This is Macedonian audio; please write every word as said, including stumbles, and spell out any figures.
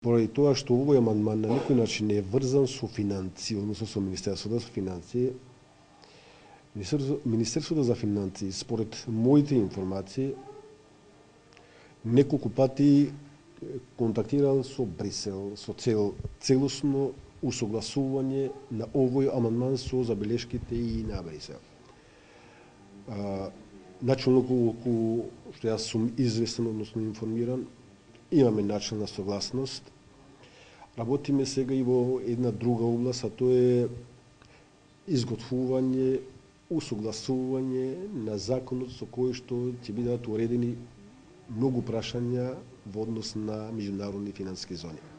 поради тоа што овој амандман на никој начин не е врзан со финансии, односно со Министерството за финансии, Министерството за финансии, според моите информации, неколку пати контактирал со Брисел со цел целосно усогласување на овој амандман со забелешките и на Брисел. А, начелно колку што јас сум известен, односно информиран, имаме начелна согласност. Работиме сега и во една друга област, а тоа е изготвување, усогласување на законот со кој што ќе бидат уредени многу прашања во однос на меѓународни финансиски зони.